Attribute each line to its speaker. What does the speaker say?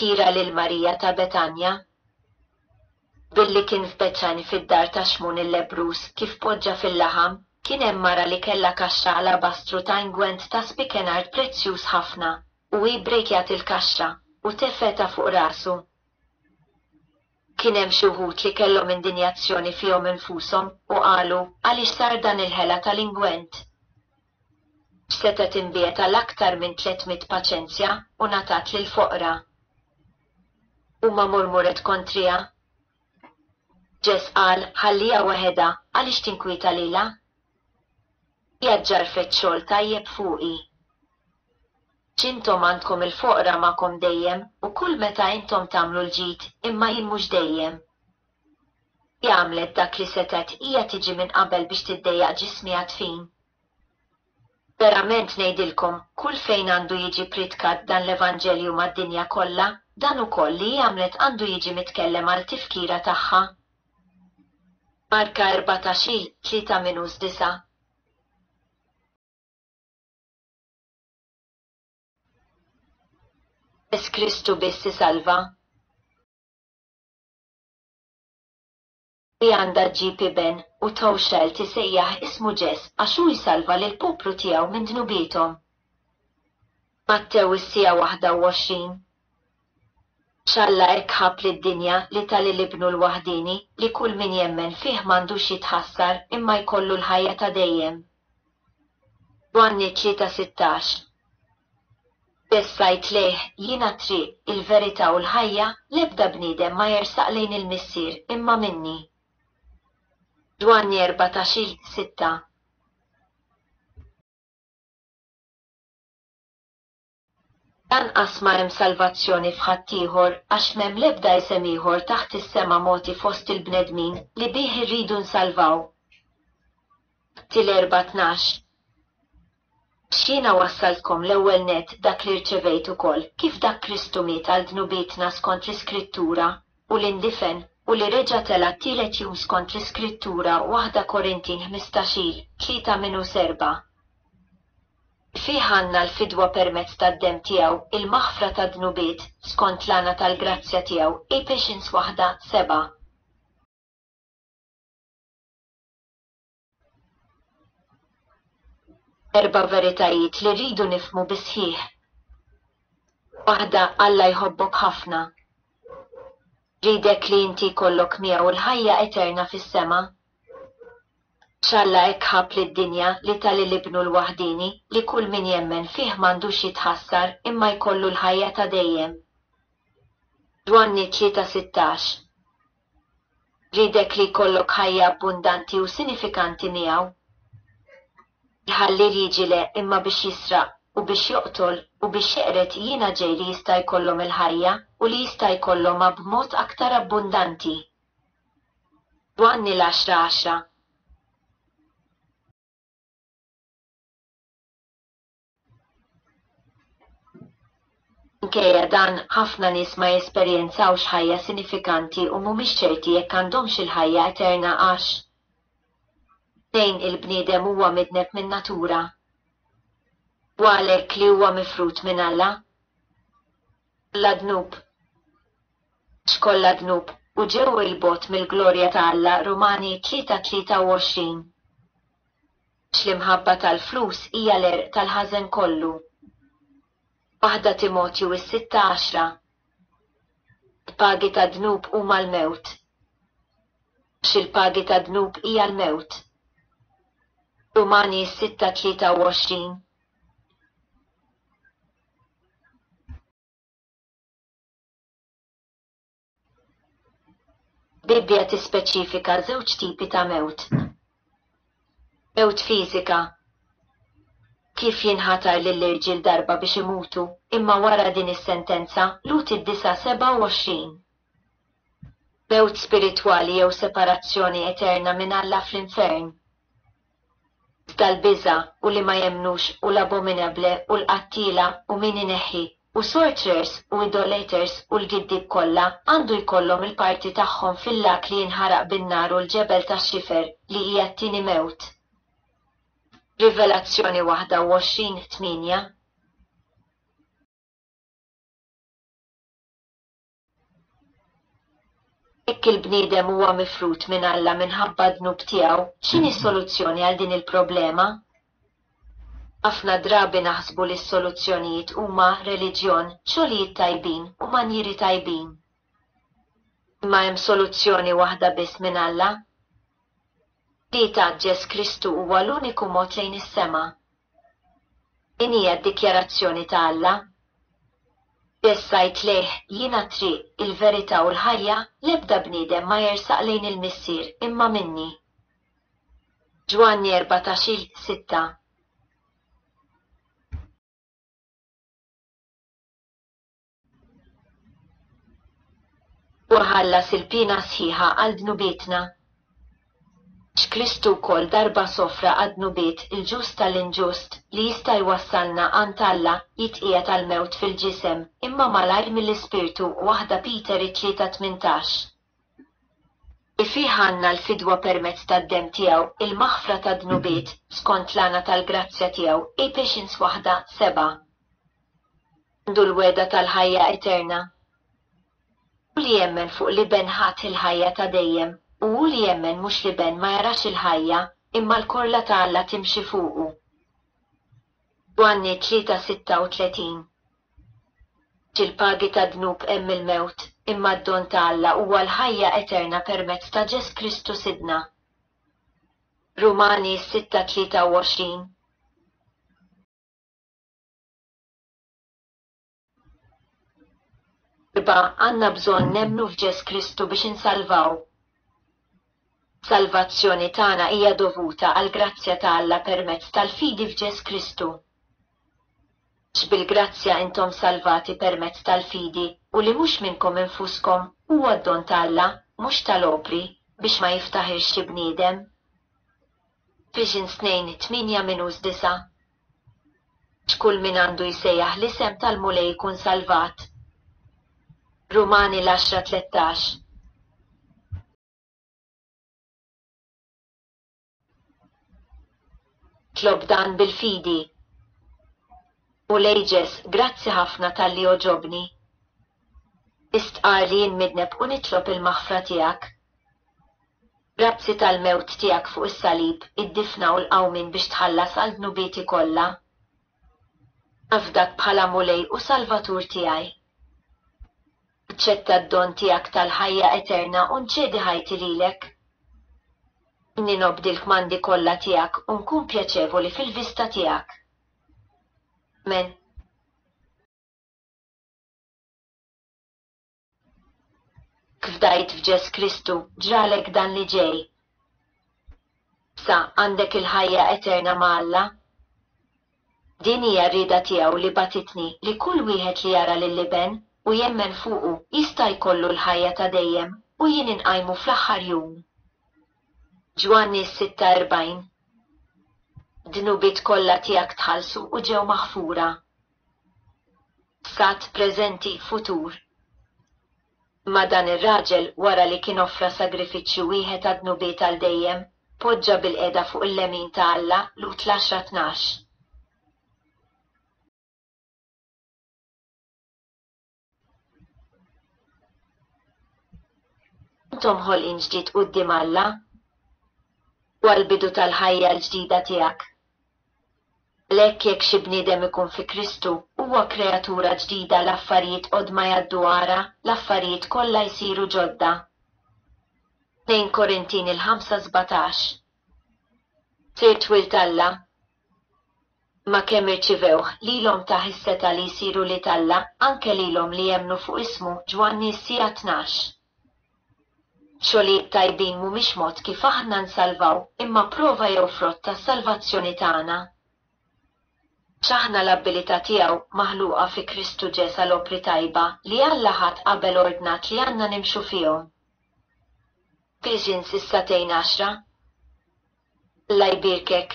Speaker 1: Tifkira lil Marija ta' Betanja. Billi kien f'Betani fid-dar ta' Xmun il-lebbruż, kif poġġa fil-laħam, kien hemm mara li kellha kaxxa alabastru ta' ingwent ta' spikenard prezzjuż ħafna, u hi brejkjat il-kaxxa, u tefgħetha fuq rasu. Kien hemm xi wħud li kellhom indinjazzjoni fihom infushom, u qalu, Għaliex sar dan il-ħela tal-ingwent? X'setgħet inbiegħet għal aktar minn 300 paċenzja u ngħatat lill-foqra? Huma murmuret kontriha. Ġes qal, Ħalliha waħedha, għaliex tinkwieta lilha? Hija ġġarrfet xogħol tajjeb fuqi. X'intom għandkom il-foqra magħkom dejjem, u kull meta intom tagħmlu l-ġid, imma jien mhux dejjem. Hi għamlet dak li setgħet, hija tiġi minn qabel biex tiddejjaq ġismi għad-dfin. Verament ngħidilkom, kull fejn għandu jiġi pprietkat dan l-evanġelju mad-dinja kollha, dan ukoll li hi għamlet għandu jiġi mitkellem għal tifkira tagħha. Marka 14, 3 minus 9. Biss Kristu biss isalva. Hi għandha ġġib iben, u thou shalt isejjaħ ismu Ġes, għax hu jsalva lill-poplu tiegħu minn dnubiethom. Mattew is-siegħa 21. Għax Alla hekk ħabb lid-dinja li ta lil Ibnu l-waħdieni, li kull min jemmen fih m'għandux jitħassar imma jkollu l-ħajja ta' dejjem. Ġwanni 3:16. Biss għidt lejh, Jiena t-triq, il-verità u l-ħajja, l-ebda bniedem ma jersaq lejn il-Missier imma minni. Ġwanni 14, 6. Lanqas ma hemm salvazzjoni f'ħaddieħor, għax m'hemm l-ebda isem ieħor taħt is-sema mogħti fost il-bnedmin li bih irridu nsalvaw. Atti l-Erbgħa 12. Għax jiena wassaltkom l-ewwel nett dak li rċevejt ukoll, kif dak Kristu miet għal dnubietna skont l-Iskrittura, u li ndifen, u li reġa' tela' t-tielet jum skont l-Iskrittura Waħda Korintin 15, 3 minus 4. Fih għandna l-fidwa permezz tad-demm tiegħu, il-maħfra tad-dnubiet, skont l-għana tal-grazzja tiegħu Ephesians waħda, 7. Erba' veritajiet li rridu nifhmu bis-sħiħ. Waħda, Alla jħobbok ħafna. Jridek li inti jkollok miegħu l-ħajja eterna fis-sema. Għax Alla hekk ħabb lid-dinja li ta lil Ibnu l-waħdieni, li kull min jemmen fih m'għandux jitħassar imma jkollu l-ħajja ta' dejjem. Ġwanni 3:16. Jridek li jkollok ħajja abbundanti u sinifikanti miegħu. Il-ħalliel jiġi le imma biex jisraq, u biex joqtol, u biex jeqred jiena ġej li jista' jkollhom il-ħajja, u li jista' jkollhomha b'mod aktar abbundanti. Ġwanni l-għaxra għaxra. Minkejja dan, ħafna nies ma jesperjenzawx ħajja sinifikanti u mhumiex ċerti jekk għandhomx il-ħajja eterna għax. Tnejn il-bniedem huwa midneb min-natura. U għalhekk li huwa mifrud minn Alla. Kollha dnub. Għax kollha dnub, u ġew 'il bogħod mill-glorja ta' Alla Rumani 3:23. Għax l-imħabba tal-flus hija l-għerq tal-ħażen kollu. Waħda Timotju is-sitta għaxra. Il-pagi tad-dnub huma l-mewt. Għax il-pagi tad-dnub hija l-mewt. Rumani is-sitta 23. Bibbja tispeċifika żewġ tipi ta' mewt. Mewt fiżika. Kif jinħatar lill-irġiel darba biex imutu, imma wara din is-sentenza, Lhud id-disgħa 27. Mewt spiritwali jew separazzjoni eterna minn Alla fl-infern. Iżda l-biża', u li ma jemmnux, u l-abominable, u l-qattiela, u min ineħħi, u sorcerers, u idolaters, u l-giddieb kollha, għandu jkollhom il-parti tagħhom fil-lag li jinħaraq bin-nar u l-ġebel tax-xifer, li hija t-tieni mewt. Rivelazzjoni 21, 8. Jekk il-bniedem huwa mifrud minn Alla minħabba d-dnub tiegħu, x'inhi s-soluzzjoni għal din il-problema? Ħafna drabi naħsbu li s-soluzzjonijiet huma reliġjon, xogħlijiet tajbin u manjieri tajbin. Imma hemm soluzzjoni waħda biss minn Alla. Li ta Ġes Kristu huwa l-uniku mod lejn is-sema. Din hija d-dikjarazzjoni ta' Alla. Ġes għid lejh, Jiena t-triq, il-verità u l-ħajja, l-ebda bniedem ma jersaq lejn il-Missier imma minni. Ġwanni 14, 6. Huwa ħallas il-piena sħiħa għal dnubietna. Għax Kristu wkoll darba sofra għad-dnubiet, il-ġust għall-inġust, li jista' jwassalna għand Alla, jitqiegħed għall-mewt fil-ġisem, imma malajr mill-Ispirtu, Waħda Peter it-Tlieta 18. Li fih għandna l-fidwa permezz tad-demm tiegħu, il-maħfra tad-dnubiet, skont l-għana tal-grazzja tiegħu, Ephesians waħda, sebgħa. Għandu l-wegħda tal-ħajja eterna. Hu li jemmen fuq l-Iben ħadd il-ħajja ta' dejjem, u hu li jemmen mhux l-Iben ma jarax il-ħajja, imma l-korla ta' Alla timxi fuqu. Ġwanni 3:36. Għax il-pagi tad-dnub hemm il-mewt, imma d-don ta' Alla huwa l-ħajja eterna permezz ta' Ġes Kristu Sidna. Rumani 6:23. Erba' għandna bżonn nemmnu f'Ġes Kristu biex insalvaw. Salvazzjoni tagħna hija dovuta għall-grazzja ta' Alla permezz tal-fidi f'Ġes Kristu. Għax bil-grazzja intom salvati permezz tal-fidi, u li mhux minnkom infuskom, huwa d-don ta' Alla, mhux tal-opri, biex ma jiftaħirx xi bniedem. Ephesians 2, 8-9. Għax kull min għandu jsejjaħ l-isem tal-Mulej ikun salvat. Rumani l-għaxra 13. Tlob dan bil-fidi. Mulej Ġes, grazzi ħafna talli għoġobni. Nistqarr li jien midneb u nitlob il-maħfra tiegħek. Grazzi tal-mewt tiegħek fuq is-salib, id-difna u l-qawmien biex tħallas għal dnubieti kollha. Nafdak bħala Mulej u Salvatur tiegħi. Naċċetta d-don tiegħek tal-ħajja eterna u nċedi ħajti lilek. Għinni nobdi l-kmandi kollha tiegħek u nkun pjaċevoli fil-vista tiegħek. Amen. Kif fdajt f'Ġes Kristu, ġralek dan li ġej. Issa għandek il-ħajja eterna ma' Alla. Din hija r-rieda tiegħu li bagħtitni li kull wieħed li jara lill-Iben u jemmen fuqu jista' jkollu l-ħajja ta' dejjem u jien inqajmu fl-aħħar jum. Ġwanni 6:40 Dnubiet kollha tiegħek tħallsu u ġew maħfura. Passat, preżenti, futur. Imma dan ir-raġel, wara li kien offra sagrifiċċju wieħed għad-dnubiet għal dejjem, poġġa bilqiegħda fuq il-lemin ta' Alla, Lut l-għaxra 12. Intom ħolqien ġdid quddiem Alla. Huwa l-bidu tal-ħajja l-ġdida tiegħek. Għalhekk jekk xi bniedem ikun fi Kristu, huwa kreatura ġdida l-affarijiet qodma jgħaddu ara, l-affarijiet kollha jsiru ġodda. 2 Korintin il-ħamsa 17. Sirt wild Alla. Imma kemm irċivewh, lilhom tah is-setgħa li jsiru wlied Alla, anke lilhom li jemmnu fuq ismu, Ġwanni s-siegħa 12. Xogħlijiet tajbin mhumiex mod kif aħna nsalvaw, imma prova jew frott tas-salvazzjoni tagħna. Għax aħna l-abbilità tiegħu, maħluqa fi Kristu Ġes għal opri tajba, li Alla ħadd qabel ordnat li għandna nimxu fihom. Ephesians is-sagħtejn għaxra. Alla jbierkek.